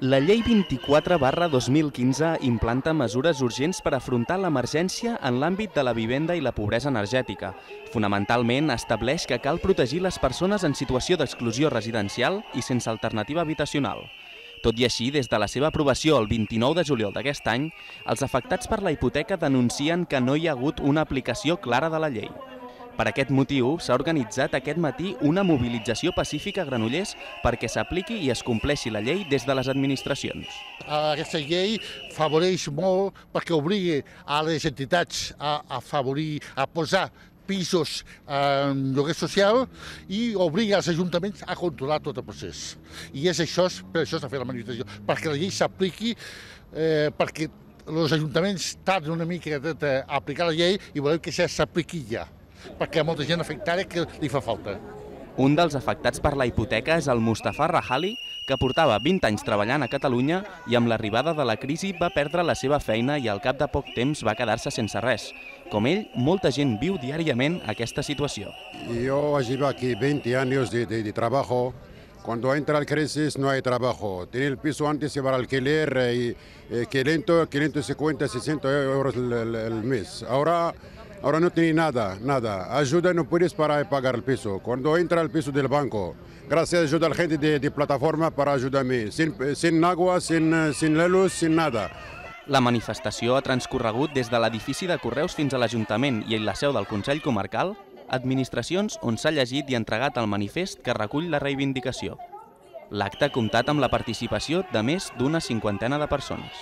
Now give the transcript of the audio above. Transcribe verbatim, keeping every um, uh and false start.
La Llei vint-i-quatre barra dos mil quinze implanta mesures urgents per afrontar l'emergència en l'àmbit de la vivenda i la pobresa energètica. Fonamentalment, estableix que cal protegir les persones en situació d'exclusió residencial i sense alternativa habitacional. Tot i així, des de la seva aprovació el vint-i-nou de juliol d'aquest any, els afectats per la hipoteca denuncien que no hi ha hagut una aplicació clara de la llei. Per aquest motiu, s'ha organitzat aquest matí una mobilització pacífica a Granollers perquè s'apliqui i es compleixi la llei des de les administracions. Aquesta llei favoreix molt perquè obliga a les entitats a afavorir, a posar pisos en lloguer social i obliga als ajuntaments a controlar tot el procés. I és això, per això s'ha fet la manifestació, perquè la llei s'apliqui, eh, perquè els ajuntaments tarden una mica a aplicar la llei i volem que s'apliqui ja, perquè hi ha molta gent afectada que li fa falta. Un dels afectats per la hipoteca és el Mustafa Rahali, que portava vint anys treballant a Catalunya i amb l'arribada de la crisi va perdre la seva feina i al cap de poc temps va quedar-se sense res. Com ell, molta gent viu diàriament aquesta situació. Yo llevo aquí veinte años de, de, de trabajo. Cuando entra la crisis no hay trabajo. Tenía el piso antes para alquiler y eh, quinientos, quinientos cincuenta, seiscientos euros el, el, el mes. Ahora, ahora no tiene nada, nada. Ayuda no puedes para pagar el piso. Cuando entra el piso del banco, gracias a ayuda a la gente de, de plataforma para ayudarme. Sin, sin agua, sin, sin la luz, sin nada. La manifestació ha transcorregut des de l'edifici de Correus fins a l'Ajuntament i la seu del Consell Comarcal, administracions on s'ha llegit i entregat el manifest que recull la reivindicació. L'acte ha comptat amb la participació de més d'una cinquantena de persones.